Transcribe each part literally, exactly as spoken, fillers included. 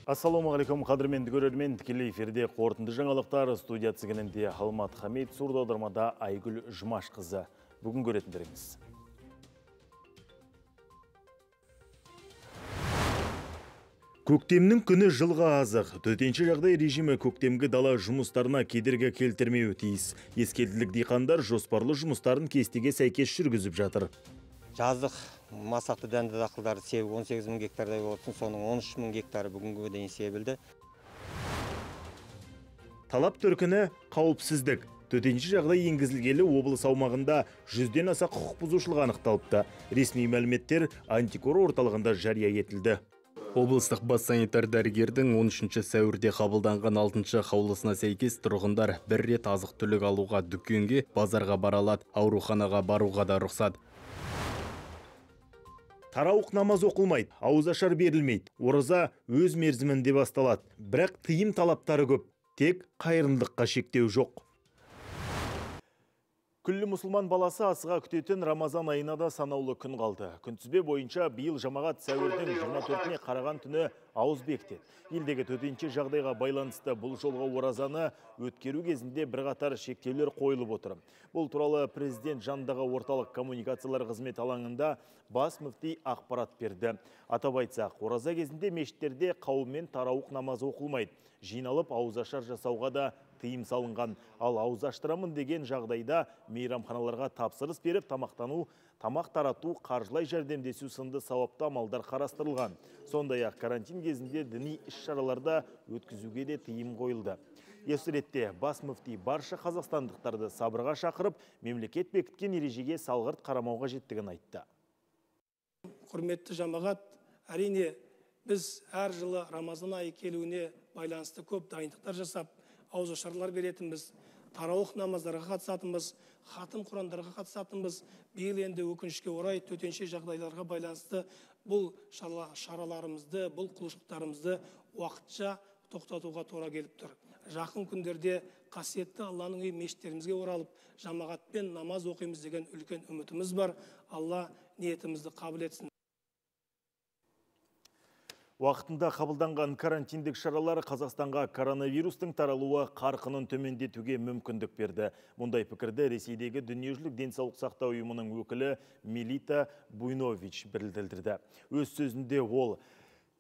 Ассалаумағалейкум, қадірменді көрермен, тікелей эфирде қорытынды жаңалықтар студия тізгінінде Алмат Хамид, сурдаудармада Айгүл Жұмашқызы. Бүгін көретіндеріңіз. Көктемнің күні жылға азық. Төтенше жағдай режимі көктемгі дала жұмыстарына кедергі келтірмеуі тиіс. Ескелділік диқандар жоспарлы жұмыстарын кестеге сәйкес жүргізіп жатыр. Жаздық масақты дәнді дақылдарды себу он сегіз мың гектардай болсын, соның он үш мың гектары бүгінгі дейін себілді. Талап төркіні қауіпсіздік. Төтенше жағдай енгізілгелі облыс аумағында жүзден аса құқық бұзушылық анықталыпты. Ресми мәліметтер антикор орталығында жария етілді. Облыстық бас санитар дәрігердің он үшінші сәуірде қабылданған алтыншы қаулысына сәйкес тұрғындар бір рет азық түлік алуға дүкенге, базарға бара алады, ауруханаға баруға да рұқсат. Тарауық намаз оқылмайды, ауызашар берілмейді. Ораза өз мерзімінде басталады. Бірақ тыйым талаптары көп. Тек қайырымдылыққа шектеу жоқ. Күллі мұсылман баласы асыға күтетін Рамазан айына да санаулы күн қалды. Күнтізбе бойынша биыл жамағат сәуірдің жиырма төртіне қараған түні ауыз бекітеді. Елдегі төтенше жағдайға байланысты бұл жолға оразаны өткеру кезінде бірқатар шектеулер қойылып отыр. Бұл туралы президент жанындағы орталық коммуникациялар қызмет алаңында бас мүфти ақпарат берді. Атап айтсақ, ораза кезінде мешіттерде қауыммен тарауық намазы оқылмайды. Жиналып ауызашар жасауға да тыйым салынған. Ал ауыз аштырамын деген жағдайда мейрамханаларға тапсырыс беріп, тамақтану, тамақ тарату, қаржылай жәрдемдесу сынды сауапты амалдар қарастырылған. Сондай-ақ карантин кезінде діни іс-шараларда өткізуге де тыйым қойылды. Осы ретте бас мүфти барша қазақстандықтарды сабырға шақырып, мемлекет бекіткен ережеге салғырт қарамауға жеттігін айтты. Құрметті жамағат, әрине біз әр жылы Рамазан айы келуіне байланысты көп дайындықтар жасап, ауызашарлар беретінбіз, тарауық намаздарға қатысатынбыз, хатым құрандарға қатысатынбыз. Биыл енді өкінішке орай төтенше жағдайларға байланысты бұл шараларымызды, бұл құлшылықтарымызды уақытша тоқтатуға тура келіп тұр. Жақын күндерде қасиетті Алланың үйі мешіттерімізге оралып, жамағатпен намаз оқимыз деген үлкен үмітіміз бар. Алла ниетімізді қабыл етсін. Уақытында қабылданған карантиндік шаралар Қазақстанға коронавирустың таралуы қарқынын төмендетуге мүмкіндік берді. Мұндай пікірді Ресейдегі дүниежүзілік денсаулық сақтау ұйымының өкілі Мелита Буйнович білдірді. Өз сөзінде ол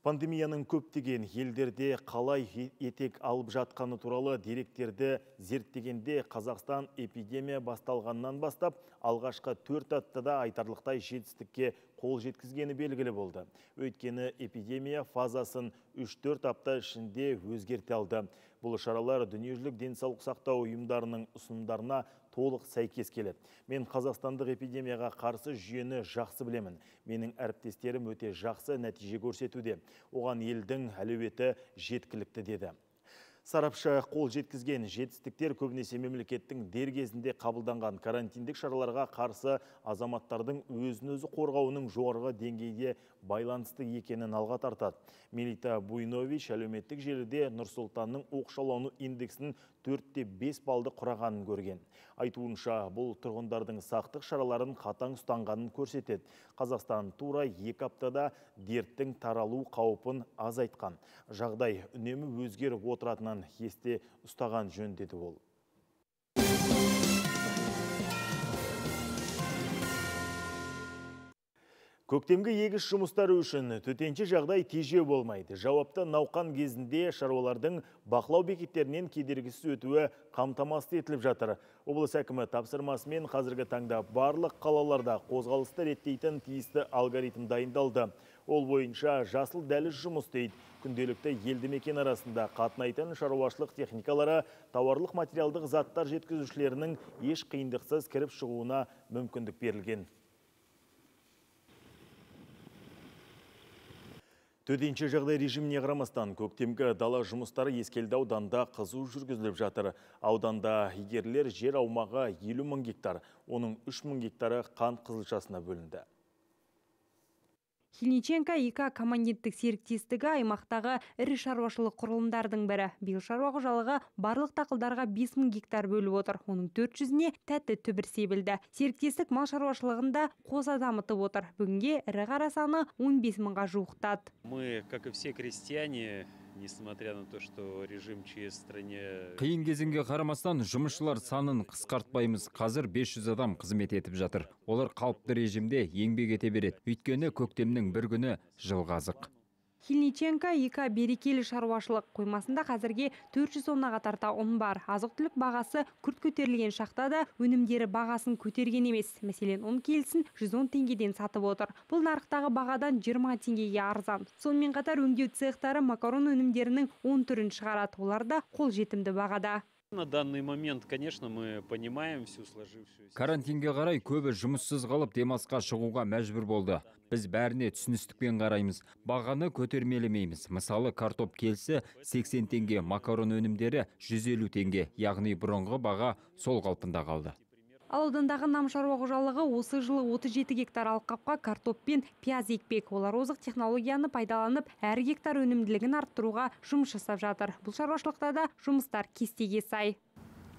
пандемияның көптеген елдерде қалай етек алып жатқаны туралы деректерді зерттегенде Қазақстан эпидемия басталғаннан бастап алғашқы төрт аптада айтарлықтай жетістікке қол жеткізгені белгілі болды. Өйткені эпидемия фазасын үш-төрт апта ішінде өзгерте алды. Бұл шаралар дүниежүзілік денсаулық сақтау ұйымдарының ұсынымдарына толық сәйкес келеді. Мен қазақстандық эпидемияға қарсы жүйені жақсы білемін. Менің әріптестерім өте жақсы нәтиже көрсетуде. Оған елдің әлеуеті жеткілікті деді. Сарапшы қол жеткізген жетістіктер көбінесе мемлекеттің дер кезінде қабылданған карантиндік шараларға қарсы азаматтардың өзін-өзі қорғауының жоғарғы деңгейде байланысты екенін алға тартады. Мелита Буйнович әлеуметтік желіде Нұр-Сұлтанның оқшаулану индексінің төрт те бес балды құрағанын көрген. Айтуынша, бұл тұрғындардың сақтық шараларын қатаң ұстанғанын көрсетеді. Қазақстан тура екі аптада дерттің таралу қаупін азайтқан. Жағдай үнемі өзгеріп отыратынын есте ұстаған жөн деді ол. Көктемгі егіс жұмыстары үшін төтенше жағдай тежеу болмайды. Жауапты науқан кезінде шаруалардың бақылау бекеттерінен кедергісіз өтуі қамтамасыз етіліп жатыр. Облыс әкімі тапсырмасымен қазіргі таңда барлық қалаларда қозғалысты реттейтін тиісті алгоритм дайындалды. Ол бойынша жасыл дәліз жұмыс істейді. Күнделікті елді мекен арасында қатынайтын шаруашылық техникалары тауарлық материалдық заттар жеткізушілерінің еш қиындықсыз кіріп шығуына мүмкіндік берілген. Төтенше жағдай режиміне қарамастан көктемгі дала жұмыстары Ескелді ауданда қызу жүргізіліп жатыр. Ауданда игерілер жер аумағы елу мың гектар, оның үш мың гектары қант қызылшасына бөлінді. Хильниченко ИК коммандиттік серіктестігі аймақтағы ірі шаруашылық құрылымдардың бірі. Биыл шаруа қожалығы барлық дақылдарға бес мың гектар бөліп отыр. Оның төрт жүзіне тәтті түбір себілді. Серіктестік мал шаруашылығында қоса дамытып отыр. Бүгінге ірі қара саны он бес мыңға жуықтады. Мы, как и все крестьяне, несмотря на то, что режим ЧС в стране... Қиын кезеңге қарамастан жұмысшылар санын қысқартпаймыз. Қазір бес жүз адам қызмет етіп жатыр. Олар қалыпты режимде еңбек ете береді. Өйткені көктемнің бір күні жылғы азық. Хильниченко ИК берекелі шаруашылық қоймасында қазірге төрт жүз тоннаға тарта ұн бар. Азық-түлік бағасы күрт көтерілген шақта да өнімдері бағасын көтерген емес. Мәселен, ұн келісін жүз он теңгеден сатып отыр. Бұл нарықтағы бағадан жиырма теңгеге арзан. Сонымен қатар өңдеу цехтары макарон өнімдерінің он түрін шығарады. Олар да қолжетімді бағада. На данный момент, конечно, мы понимаем всю сложившуюся... Карантинге қарай көбі жұмыссыз қалып демалысқа шығуға мәжбүр болды. Біз бәріне түсіністікпен қараймыз. Бағаны көтермелемейміз. Мысалы, картоп келісі сексен теңге, макарон өнімдері жүз елу теңге, яғни бұрынғы баға сол қалпында қалды. Ал аудандағы нам шаруа қожалығы осы жылы отыз жеті гектар алқапқа картоп пен пияз екпек. Олар озық технологияны пайдаланып, әр гектар өнімділігін арттыруға жұмыс жасап жатыр. Бұл шаруашылықта да жұмыстар кестеге сай.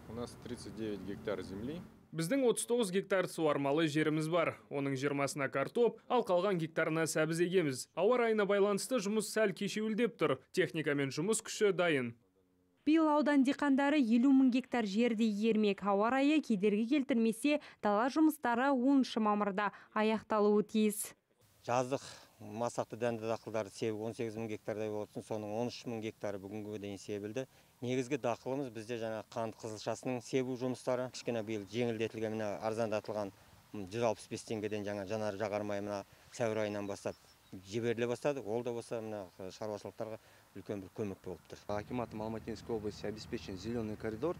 У нас тридцать девять гектар земли. Біздің отыз тоғыз гектар суармалы жеріміз бар. Оның жиырмасына картоп, ал қалған гектарына сәбіз егеміз. Ауа райына байланысты жұмыс сәл кешеуілдеп тұр. Техника мен жұмыс күші дайын. Биыл аудан диқандары елу мың гектар жерде игермек. Ауа райы кедергі келтірмесе, дала жұмыстары оныншы мамырда аяқталуы тиіс. Жаздық масақты дәнді дақылдарды себу он сегіз мың гектардай болсын, соның он үш мың гектары бүгінгі дейін себілді. Негізгі дақылымыз бізде жаңа қант қызылшасының себу жұмыстары. Кішкене биыл жеңілдетілген, мына арзандатылған жүз алпыс бес теңгеден жаңа жанар жағармай мына сәуір айынан бастап жіберіле бастады. Ол да болса мына шаруашылықтарға үлкен бір көмек болып тұр. Акиматом Алматинской области обеспечен зеленый коридор.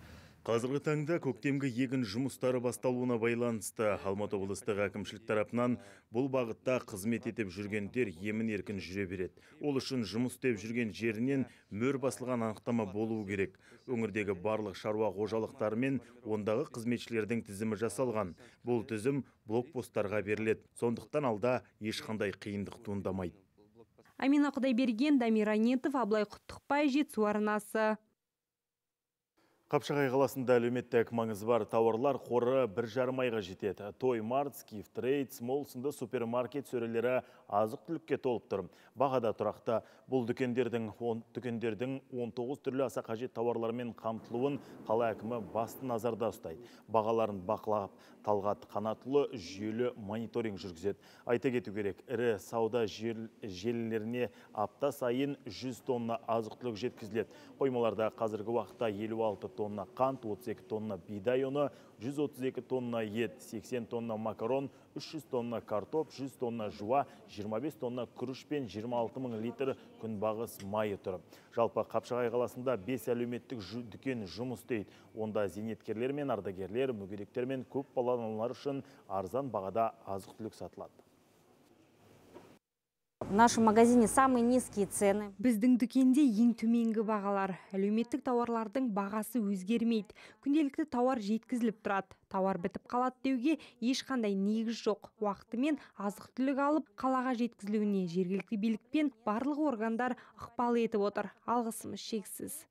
Қазіргі таңда көктемгі егін жұмыстары басталуына байланысты Алматы облыстық әкімшілік тарапынан бұл бағытта қызмет етіп жүргендер емін еркін жүре береді. Ол үшін жұмыс істеп жүрген жерінен мөр басылған анықтама болуы керек. Өңірдегі барлық шаруа қожалықтары мен ондағы қызметшілердің тізімі жасалған. Бұл тізім блокпосттарға беріледі. Сондықтан алда ешқандай қиындық туындамайды. Амина Құдайберген, Дамир Айнетов, Аблай Құттықбай, Жетісу арнасы. Қапшағай қаласында әлеуметтік маңызы бар тауарлар қоры бір жарым айға жетеді. Той Март, Скиф Трейд, Смол сынды супермаркет сөрелері азық-түлікке толып тұр. Бағада тұрақты. Бұл дүкендердің он тоғыз түрлі аса қажет тауарлармен қамтылуын қала әкімі басты назарда ұстайды. Бағаларын бақылап, Талғат Қанатұлы жүйелі мониторинг жүргізеді. Айта кету керек, ірі сауда желілеріне апта сайын жүз тонна азық-түлік жеткізіледі. Қоймаларда қазіргі уақытта елу алты тонна қант, отыз екі тонна бидай ұны, жүз отыз екі тонна ет, сексен тонна макарон, үш жүз тонна картоп, жүз тонна жуа, жиырма бес тонна күріш пен жиырма алты мың литр күнбағыс майы тұр. Жалпы Қапшағай қаласында бес әлеуметтік дүкен жұмыс істейді. Онда зейнеткерлер мен ардагерлер, мүгедектер мен көп балалы аналар үшін арзан бағада азық-түлік сатылады. В нашем магазине самые низкие цены. Біздің дүкенде ең төменгі бағалар. Әлеуметтік тауарлардың бағасы өзгермейді. Күнделікті тауар жеткізіліп тұрады. Тауар бітіп қалады деуге ешқандай негіз жоқ. Уақытымен азық-түлік алып, қалаға жеткізілуіне жергілікті билік пен барлық органдар ықпал етіп отыр. Алғысымыз шексіз.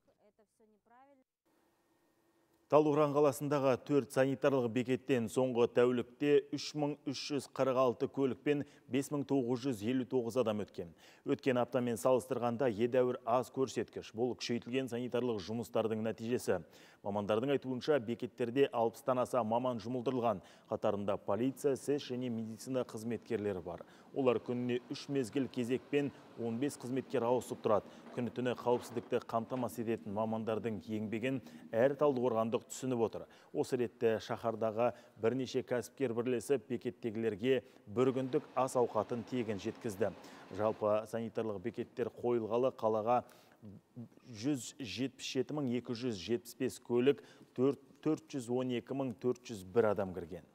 Талдықорған қаласындағы төрт санитарлық бекеттен соңғы тәулікте үш мың үш жүз қырық алты көлік пен бес мың тоғыз жүз елу тоғыз адам өткен. Өткен аптамен салыстырғанда едәуір аз көрсеткіш. Бұл күшейтілген санитарлық жұмыстардың нәтижесі. Мамандардың айтуынша бекеттерде алпыстан аса маман жұмылдырылған. Қатарында полиция, сэс және медицина қызметкерлері бар. Олар күніне үш мезгіл кезекпен он бес қызметкер ауысып тұрады. Күні түні қауіпсіздікті қамтамасыз ететін мамандардың еңбегін әр талдықорғандық түсініп отыр. Осы ретте шаһардағы бірнеше кәсіпкер бірлесіп бекеттегілерге бір күндік ас ауқатын тегін жеткізді. Жалпы санитарлық бекеттер қойылғалы қалаға жүз жетпіс жеті мың екі жүз жетпіс бес көлік, төрт жүз он екі мың төрт жүз бір адам кірген.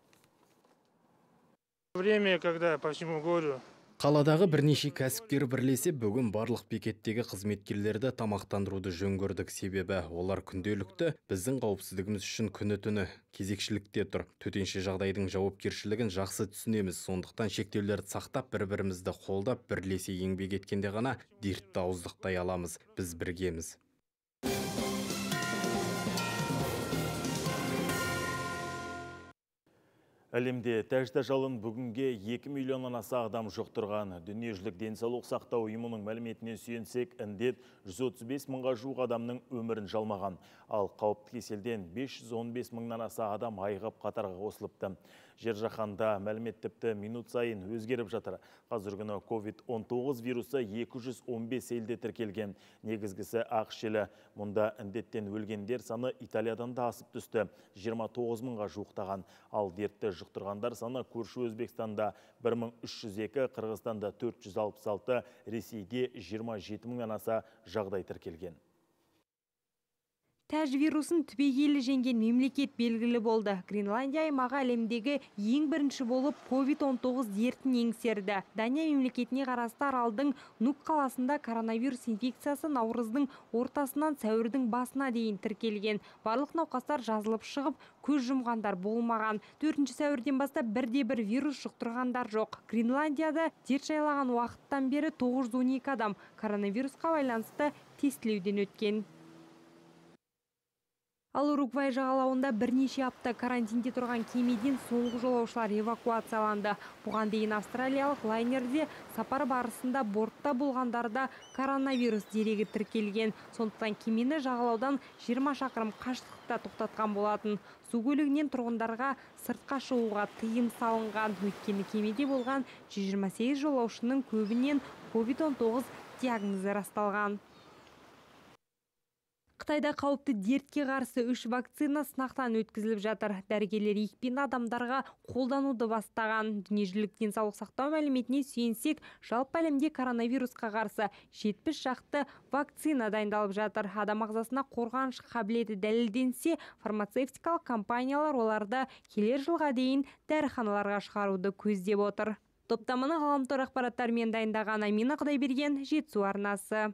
Время, когда по всему городу Қаладағы бірнеше кәсіпкер бірлесе бүгін барлық бекеттегі қызметкерлерді тамақтандыруды жөн көрдік, себебі олар күнделікті біздің қауіпсіздігіміз үшін күні түні кезекшілікте тұр. Төтенше жағдайдың жауапкершілігін жақсы түсінеміз, сондықтан шектеулерді сақтап бір-бірімізді қолдап бірлесе еңбек еткенде ғана дертті ауыздықтай аламыз. Біз біргеміз. Әлемде тәжді жалын бүгінге екі миллионнан аса адам жұқтырған. Дүниежүзілік денсаулық сақтау ұйымының мәліметіне сүйенсек, індет жүз отыз бес мыңға жуық адамның өмірін жалмаған. Ал қауіпті кеселден бес жүз он бес мыңнан аса адам айығып қатарға қосылыпты. Жер жаһанда мәлімет тіпті минут сайын өзгеріп жатыр. Қазір күні ковид он тоғыз вирусы екі жүз он бес елде тіркелген. Негізгісі ақш елі. Мұнда індеттен өлгендер саны Италиядан да асып түсті. жиырма тоғыз мыңға жуықтаған. Ал дертті жұқтырғандар саны көрші Өзбекстанда бір мың үш жүз екі, Қырғызстанда төрт жүз алпыс алты, Ресейде жиырма жеті мыңнан аса жағдай тіркелген. Тәж вирусын түбегейлі жеңген мемлекет белгілі болды. Гренландия аймағы әлемдегі ең бірінші болып ковид он тоғыз дертін еңсерді. Дания мемлекетіне қарасты аралдың Нук қаласында коронавирус инфекциясы наурыздың ортасынан сәуірдің басына дейін тіркелген. Барлық науқастар жазылып шығып, көз жұмғандар болмаған. төртінші сәуірден бастап бірде бір вирус жұқтырғандар жоқ. Гренландияда дерт жайлаған уақыттан бері тоғыз жүз он екі адам коронавирусқа байланысты тестілеуден өткен. Ал Уругвай жағалауында бірнеше апта карантинде тұрған кемеден соңғы жолаушылар эвакуацияланды. Бұған дейін австралиялық лайнерде сапар барысында бортта болғандарда коронавирус дерегі тіркелген. Сондықтан кемені жағалаудан жиырма шақырым қашықтықта тоқтатқан болатын. Су көлігінен тұрғындарға сыртқа шығуға тыйым салынған. Өйткені кемеде болған жүз жиырма сегіз жолаушының көбінен ковид он тоғыз диагнозы расталған. Қытайда қауіпті дертке қарсы үш вакцина сынақтан өткізіліп жатыр. Дәрігерлер екпені адамдарға қолдануды бастаған. Дүниежүзілік денсаулық сақтау мәліметіне сүйенсек, жалпы әлемде коронавирусқа қарсы жетпіс шақты вакцина дайындалып жатыр. Адам ағзасына қорғаныш қабілеті дәлелденсе, фармацевтикалық компаниялар оларды келер жылға дейін дәріханаларға шығаруды көздеп отыр. Топтаманы ғаламтор ақпараттарымен дайындаған Амина Құдайберген, Жетісу арнасы.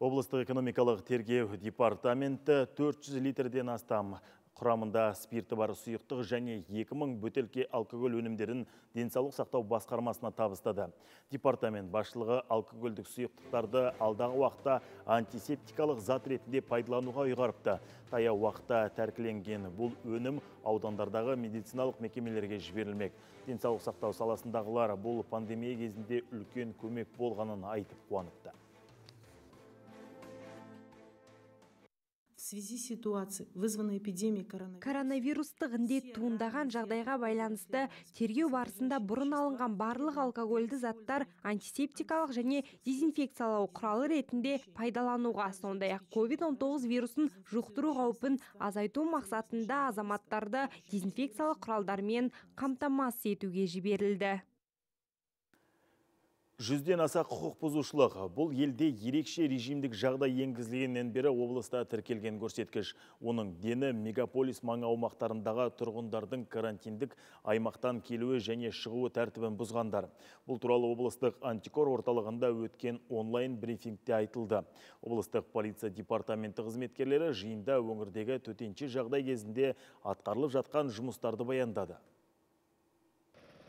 Облыстық экономикалық тергеу департаменті төрт жүз литрден астам құрамында спирті бар сұйықтық және екі мың бөтелке алкоголь өнімдерін денсаулық сақтау басқармасына табыстады. Департамент басшылығы алкогольдік сұйықтықтарды алдағы уақытта антисептикалық зат ретінде пайдалануға ұйғарыпты. Таяу уақытта тәркіленген бұл өнім аудандардағы медициналық мекемелерге жіберілмек. Денсаулық сақтау саласындағылар бұл пандемия кезінде үлкен көмек болғанын айтып қуаныпты. В связи с ситуацией, вызванной эпидемией коронавируса. Коронавирустық індет туындаған жағдайға байланысты тергеу барысында бұрын алынған барлық алкогольді заттар антисептикалық және дезинфекциялау құралы ретінде пайдалануға, сондай-ақ ковид он тоғыз вирусын жұқтыру қаупін азайту мақсатында азаматтарды дезинфекциялық құралдармен қамтамасыз етуге жіберілді. Жүзден аса құқық бұзушылық. Бұл елде ерекше режимдік жағдай енгізілгеннен бері облыста тіркелген көрсеткіш. Оның дені мегаполис маңы аумақтарындағы тұрғындардың карантиндік аймақтан келуі және шығуы тәртібін бұзғандар. Бұл туралы облыстық антикор орталығында өткен онлайн брифингте айтылды. Облыстық полиция департаменті қызметкерлері жиында өңірдегі төтенше жағдай кезінде атқарылып жатқан жұмыстарды баяндады.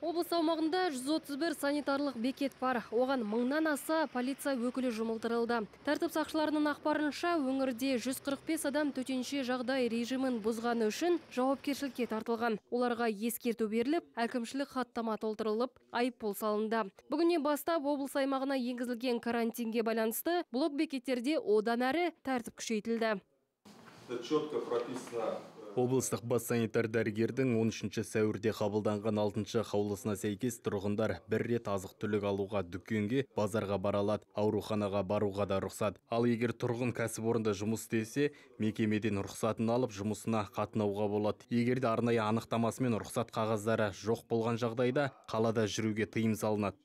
Облыс аумағында жүз отыз бір санитарлық бекет бар. Оған мыңнан аса полиция өкілі жұмылдырылды. Тәртіп сақшыларының ақпарынша, өңірде жүз қырық бес адам төтенше жағдай режимін бұзғаны үшін жауапкершілікке тартылған. Оларға ескерту беріліп, әкімшілік хаттама толтырылып, айыппұл салынды. Бүгіннен бастап облыс аймағына енгізілген карантинге байланысты блок бекеттерде одан әрі тәртіп күшейтілді. Четко прописано. Облыстық бас санитар дәрігердің он үшінші сәуірде қабылданған алтыншы қаулысына сәйкес тұрғындар бір рет азық түлік алуға дүкенге, базарға бара алады, ауруханаға баруға да рұқсат. Ал егер тұрғын кәсіпорында жұмыс істесе, мекемеден рұқсатын алып жұмысына қатынауға болады. Егер де арнайы анықтамасымен рұқсат қағаздары жоқ болған жағдайда қалада жүруге тыйым салынады.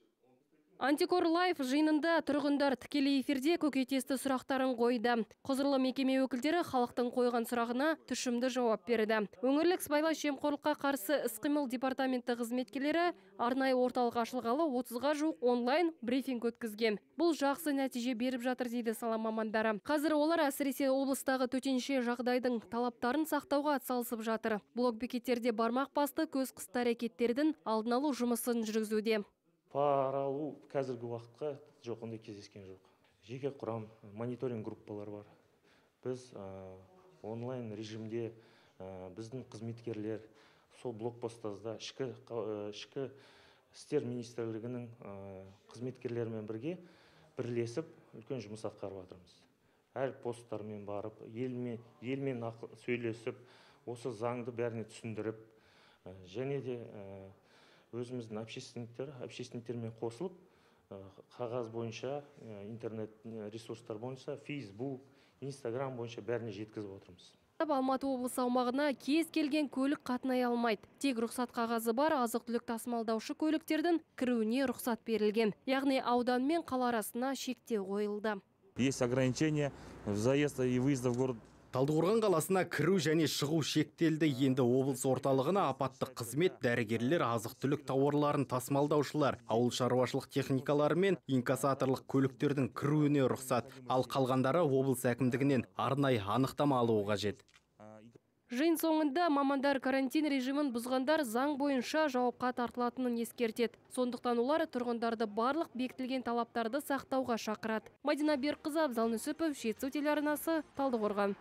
Антикор Лайф жиынында тұрғындар тікелей эфирде көкейтесті сұрақтарын қойды. Құзырлы мекеме өкілдері халықтың қойған сұрағына тұшымды жауап берді. Өңірлік сыбайлас жемқорлыққа қарсы іс-қимыл департаменті қызметкерлері арнайы орталық ашылғалы отызға жуық онлайн брифинг өткізген. Бұл жақсы нәтиже беріп жатыр дейді сала мамандары. Қазір олар әсіресе облыстағы төтенше жағдайдың талаптарын сақтауға атсалысып жатыр. Блокбекеттерде бармақ басты көз қысты әрекеттердің алдын алу жұмысын жүргізуде. Пара алу қазіргі уақытқа жоқ, ондай кездескен жоқ. Жеке құрам, мониторинг группалар бар. Біз онлайн режимде біздің қызметкерлер сол блокпостарда ішкі істер министрлігінің қызметкерлерімен бірге бірлесіп үлкен жұмыс атқарып жатырмыз. Әр посттармен барып, елмен, елмен сөйлесіп, осы заңды бәріне түсіндіріп, және де өзіміздің общественниктер, общественниктермен қосылып, қағаз бойынша, интернет ресурстар бойынша, Facebook, Instagram бойынша бәріне жеткізіп отырмыз. Алматы облысы аумағына кез келген көлік қатынай алмайды. Тек рұқсат қағазы бар азық-түлік тасымалдаушы көліктердің кіруіне рұқсат берілген. Яғни аудан мен қала арасына шектеу қойылды. Есть ограничения в заезд и выезд в город. Талдықорған қаласына кіру және шығу шектелді. Енді облыс орталығына апаттық қызмет, дәрігерлер, азық-түлік тауарларын тасымалдаушылар, ауыл шаруашылық техникалары мен инкассаторлық көліктердің кіруіне рұқсат. Ал қалғандары облыс әкімдігінен арнайы анықтама алуы қажет. Жиын соңында мамандар карантин режимін бұзғандар заң бойынша жауапқа тартылатынын ескертеді. Сондықтан олар тұрғындарды барлық бекітілген талаптарды сақтауға шақырады. Мадина Берқызы, Абзал Нүсіпов, Жетісу телеарнасы, Талдықорған.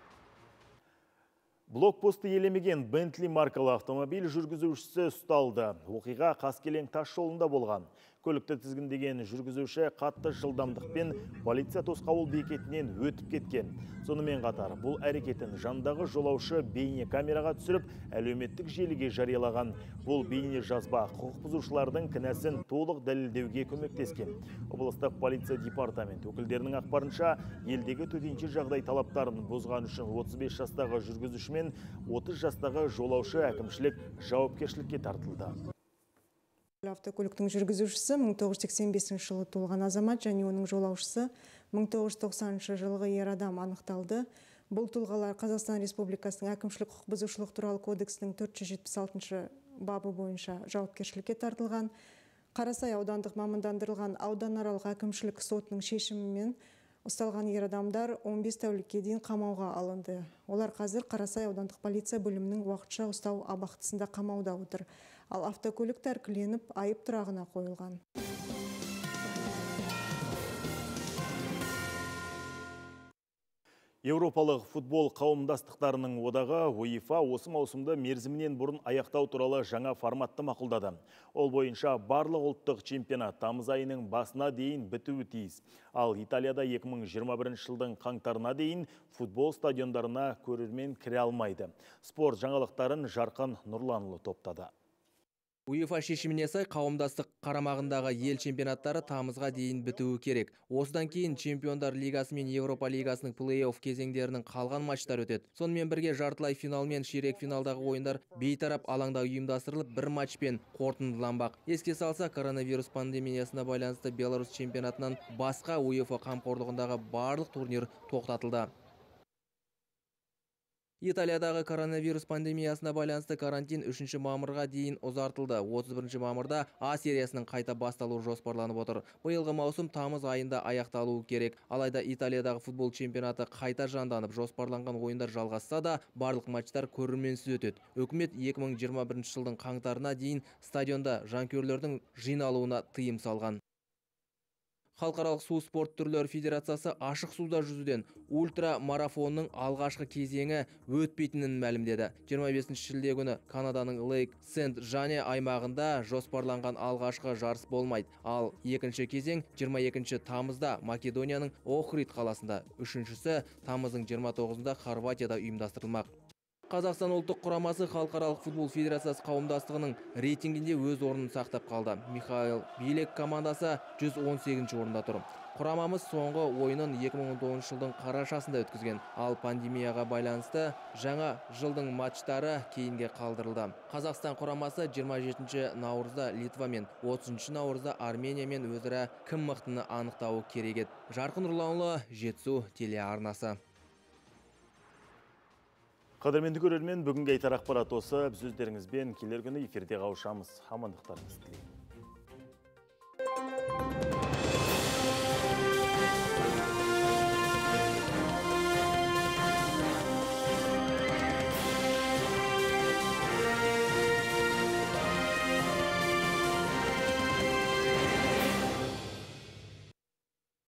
Блокпосты елемеген Бентли маркалы автомобиль жүргізушісі ұсталды. Оқиға Қаскелең тас жолында болған. Көлікті тізгіндеген жүргізуші қатты жылдамдықпен полиция тосқауыл бекетінен өтіп кеткен. Сонымен қатар бұл әрекетін жандағы жолаушы бейне камераға түсіріп, әлеуметтік желіге жариялаған. Бұл бейне жазба құқық бұзушылардың кінәсін толық дәлелдеуге көмектескен. Облыстық полиция департамент өкілдерінің ақпарынша, елдегі төтенше жағдай талаптарын бұзған үшін отыз бес жастағы жүргізуші мен отыз жастағы жолаушы әкімшілік жауапкершілікке тартылды. Автокөліктің жүргізушісі мың тоғыз жүз сексен бесінші жылы туылған азамат және оның жолаушысы мың тоғыз жүз тоқсаныншы жылғы ер адам анықталды. Бұл тұлғалар Қазақстан Республикасының әкімшілік құқық бұзушылық туралы кодексінің төрт жүз жетпіс алтыншы бабы бойынша жауапкершілікке тартылған. Қарасай аудандық мамандандырылған ауданаралық әкімшілік сотының шешімімен ұсталған ер адамдар он бес тәулікке дейін қамауға алынды. Олар қазір Қарасай аудандық полиция бөлімінің уақытша ұстау абақтысында қамауда отыр. Ал автокөлік тәркіленіп, айып тұрағына қойылған. Еуропалық футбол қауымдастықтарының одағы УЕФА осы маусымда мерзімінен бұрын аяқтау туралы жаңа форматты мақұлдады. Ол бойынша барлық ұлттық чемпионат тамыз айының басына дейін бітуі тиіс. Ал Италияда екі мың жиырма бірінші жылдың қаңтарына дейін футбол стадиондарына көрермен кіре алмайды. Спорт жаңалықтарын Жарқын Нұрланұлы топтады. УЕФА шешіміне сай қауымдастық қарамағындағы ел чемпионаттары тамызға дейін бітуі керек. Осыдан кейін Чемпиондар лигасы мен Еуропа лигасының плей-офф кезеңдерінің қалған матчтар өтеді. Сонымен бірге жартылай финал мен ширек финалдағы ойындар бейтарап алаңда ұйымдастырылып, бір матчпен қорытындыланбақ. Еске салса, коронавирус пандемиясына байланысты Беларусь чемпионатынан басқа УЕФА қамқорлығындағы барлық турнир тоқтатылды. Италиядағы коронавирус пандемиясына байланысты карантин үшінші мамырға дейін ұзартылды. отыз бірінші мамырда А сериясының қайта басталуы жоспарланып отыр. Биылғы маусым тамыз айында аяқталуы керек. Алайда Италиядағы футбол чемпионаты қайта жанданып, жоспарланған ойындар жалғасса да, барлық матчтар көрерменсіз өтеді. Үкімет екі мың жиырма бірінші жылдың қаңтарына дейін стадионда жанкүйерлердің жиналуына тыйым салған. Халықаралық су спорт түрлері федерациясы ашық суда жүзуден ультра марафонның алғашқы кезеңі өтпейтінін мәлімдеді. жиырма бесінші шілде күні Канаданың Лейк Сент-Жане аймағында жоспарланған алғашқы жарыс болмайды. Ал екінші кезең жиырма екінші тамызда Македонияның Охрид қаласында, үшіншісі тамыздың жиырма тоғызында Хорватияда ұйымдастырылмақ. Қазақстан ұлттық құрамасы халықаралық футбол федерациясы қауымдастығының рейтингінде өз орнын сақтап қалды. Михаил Билек командасы жүз он сегізінші орында тұр. Құрамамыз соңғы ойынын екі мың он тоғызыншы жылдың қарашасында өткізген, ал пандемияға байланысты жаңа жылдың матчтары кейінге қалдырылды. Қазақстан құрамасы жиырма жетінші наурызда Литва мен отызыншы наурызда Армения мен өзара кім мықтыны анықтауы керек еді. Жарқын Нұрланұлы, Жетісу телеарнасы. Қадірменді көрермен, бүгінгі айтар ақпарат осы. Біз өздеріңізбен келер күні эфирде қауышамыз. Амандықтарыңызды тілеймін.